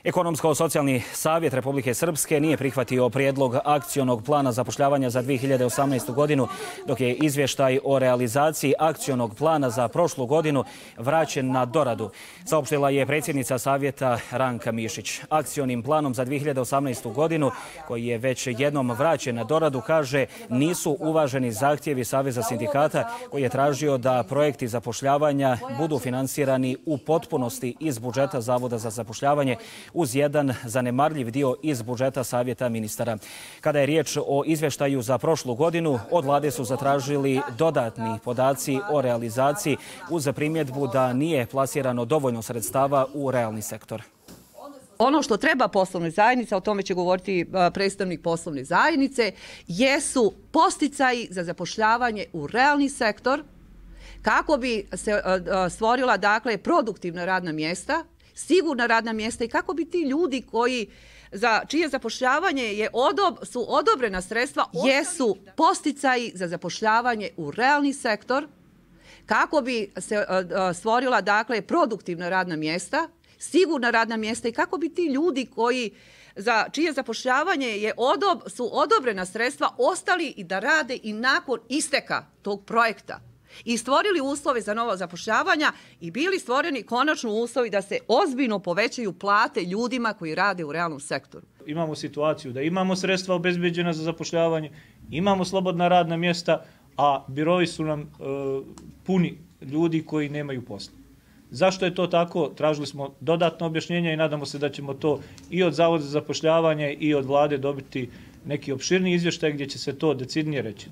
Ekonomsko-socijalni savjet Republike Srpske nije prihvatio prijedlog akcionog plana zapošljavanja za 2018. godinu, dok je izvještaj o realizaciji akcionog plana za prošlu godinu vraćen na doradu, saopštila je predsjednica savjeta Ranka Mišić. Akcionim planom za 2018. godinu, koji je već jednom vraćen na doradu, kaže, nisu uvaženi zahtjevi Saveza sindikata koji je tražio da projekti zapošljavanja budu finansirani u potpunosti iz budžeta Zavoda za zapošljavanje uz jedan zanemarljiv dio iz budžeta Savjeta ministara. Kada je riječ o izvještaju za prošlu godinu, od vlade su zatražili dodatni podaci o realizaciji uz primjedbu da nije plasirano dovoljno sredstava u realni sektor. Ono što treba poslovnoj zajednici, o tome će govoriti predstavnik poslovne zajednice, jesu podsticaji za zapošljavanje u realni sektor kako bi se stvorila, dakle, produktivna radna mjesta, sigurna radna mjesta i kako bi ti ljudi za čije zapošljavanje su odobrena sredstva jesu podsticaji za zapošljavanje u realni sektor kako bi se stvorila, dakle, produktivna radna mjesta, sigurna radna mjesta i kako bi ti ljudi za čije zapošljavanje su odobrena sredstva ostali i da rade i nakon isteka tog projekta i stvorili uslove za novo zapošljavanja i bili stvoreni konačno uslovi da se ozbiljno povećaju plate ljudima koji rade u realnom sektoru. Imamo situaciju da imamo sredstva obezbeđena za zapošljavanje, imamo slobodna radna mjesta, a birovi su nam puni ljudi koji nemaju posla. Zašto je to tako? Tražili smo dodatno objašnjenje i nadamo se da ćemo to i od Zavoda za zapošljavanje i od vlade dobiti neki opširni izvještaj gdje će se to decidnije reći.